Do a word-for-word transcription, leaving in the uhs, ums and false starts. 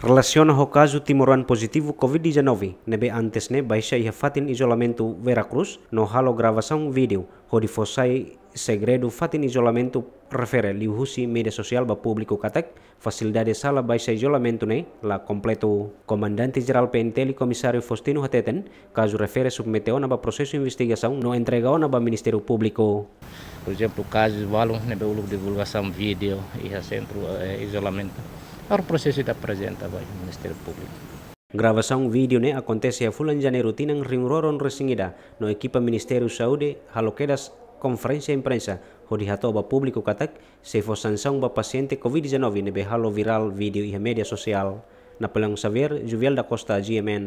Relasiona ho kazu timoroan pozitivu Covid dezanove ne'ebé antes ne'e baixa iha fatin izolamentu Vera Cruz no halo gravasaun vídeo hodi fó sai segredu fatin izolamentu refere liuhusi média sosiál ba públiku katak fasilidade sala baixa izolamentu ne'e la kompletu. Komandante Jerál P N T L Komisáriu Faustino hateten, kazu refere submete ona ba prosesu investigasaun no entrega ona ba Ministériu Públiku. Por ezemplu, kazu balun ne'ebé uluk divulgasaun vídeo iha sentru, eh, izolamentu, agora prosesu ita aprezenta ba Ministériu Públiku. Gravasaun vídeo ne'e akontese iha fulan Janeiru tinan rihun rua ruanulu-resin-ida no ekipa Ministériu Saúde halo kedas konferénsia imprensa hodi hato'o ba públiku katak sei fó sansaun ba pasiente Covid dezanove ne'ebé halo virál vídeo iha média sosiál. Napoleão Xavier, Juviel da Costa, G M N.